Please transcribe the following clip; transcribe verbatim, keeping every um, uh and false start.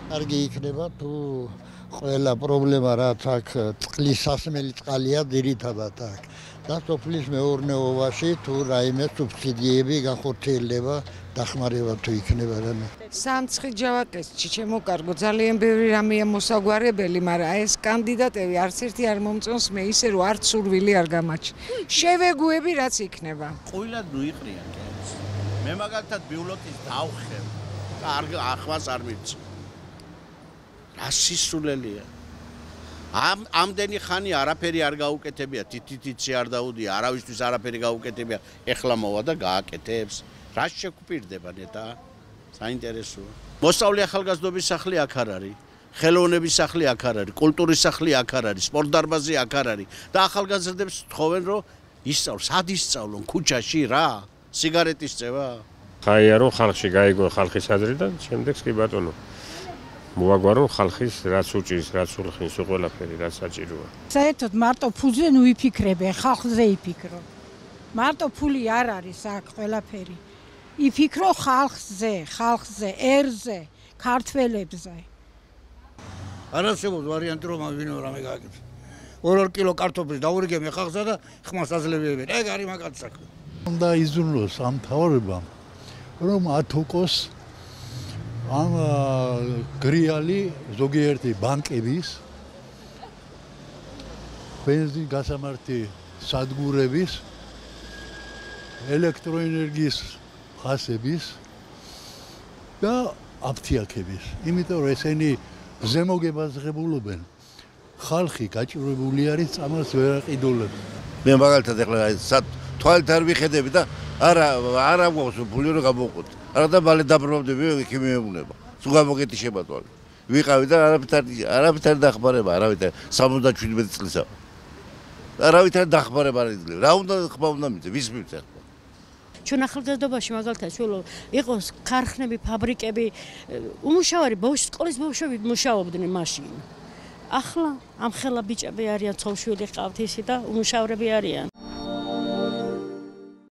კარგი იქნება თუ ყველა პრობლემა რაც აქ წყლის სასმელი წყალია ძირითადად აქ და სოფლის მეურნეობაში თუ რაიმე სუბსიდიები განხორციელდება დახმარება თუ იქნება რამე. სამცხი ჯავაკეთში ჩემო კარგო ძალიან ბევრი რამეა მოსაგვარებელი, მაგრამ ეს კანდიდატები არც ერთი არ მომწონს მე ისე რომ არც სურვილი არ გამაჩნია. შევეგუები რაც იქნება. ყვილად ნუიყრია კენს. მე მაგალითად ბიულოტის დავხევ. არ ახმას არ მივცი. რა სისულელია. ამ ამდენი ხანი არაფერი არ გაუკეთებია, თითითიცი არ დაუდია, არავისთვის არაფერი გაუკეთებია, ეხლა მოვა და გააკეთებს. რა შეგვპირდება ნეტა? საინტერესოა. მოსწავლე ახალგაზრდობის სახლი აქ არ არის, ხელოვნების სახლი აქ არ არის, კულტურის სახლი აქ არ არის, სპორტ დარბაზი აქ არ არის და ახალგაზრდებს თხოვენ რომ ისწავლონ, სად ისწავლონ? ქუჩაში რა? სიგარეტის წევა? ხაია რომ ხალხში გაიგო ხალხის აზრი და შემდეგს კი ბატონო მოაგვარო ხალხის რაც უჭირს, რაც ურხინს, ყველაფერი რაც საჭიროა. საერთოდ მარტო ფულზე ნუ იფიქრებენ, ხალხზე იფიქრო. მარტო ფული არ არის აქ ყველაფერი. იფიქრო ხალხზე, ხალხზე, ერზე, ქართველებზე. არასწორად ვარიანტი რომ ვინო რამე გააკეთებს. ორ-ორ კილო კარტოფილს დაურიგებენ ხალხსა და ხმას აძლევენ. ეგ არის მაგათი საქმე. უნდა იზრუნოს ამ თავრებამ რომ ათოკოს ამ გრიალი ზოგიერთი ბანკების ბენზინ გასამართი სადგურების ელექტროენერგიის ხასების და აფთიაქების. იმიტომ რომ ესენი ზემოგებას ღებულობენ. ხალხი გაჭირვებული არის წამალს ვერ აყიდულებს. მე მაგალითად ეხლა სად თვალით არ ვიხედები და არა არა გვაქვს ფული რომ გამოვყოთ. არა და მალე დაბრუნდები იქ მეუბნება. სულ გამოგეთიშება თვალი. ვიყავი და არაფერ არაფერ დახმარება, არავითარ სამოცდაშვიდმეტი წლისა. არავითარ დახმარება არ იძლევა. რა უნდა ხმა უნდა მიწე, ვის მიწე ხმა? ჩვენ ახალგაზრდობაში მაგალითად სულ იყოს ქარხნები, ფაბრიკები, უმუშავარი ბავშვი სკოლის ბავშვები მუშაობდნენ მაშინ. ახლა ამ ხელა ბიჭები არიან, ცოლ-შვილი ყავთ ისე და უმუშავრები არიან.